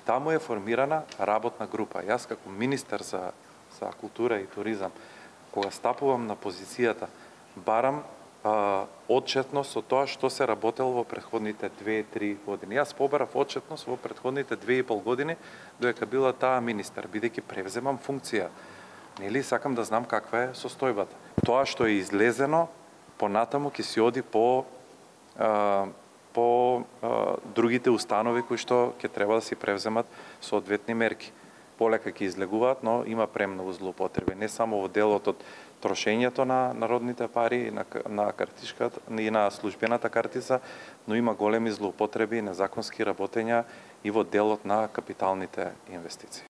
таму е формирана работна група. Јас како министер за култура и туризам, кога стапувам на позицијата, барам отчетност од тоа што се работело во претходните 2-3 години. Јас побарав отчетност во претходните 2,5 години, додека била таа министер, бидејќи превземам функција. Нели сакам да знам каква е состојбата. Тоа што е излезено, понатаму ќе се оди по другите установи кои што ќе треба да си превземат соодветни мерки. Полека ќе излегуваат, но има премногу злоупотреби, не само во делот од трошењето на народните пари на картичката и на службената картица, но има големи злоупотреби и незаконски работења и во делот на капиталните инвестиции.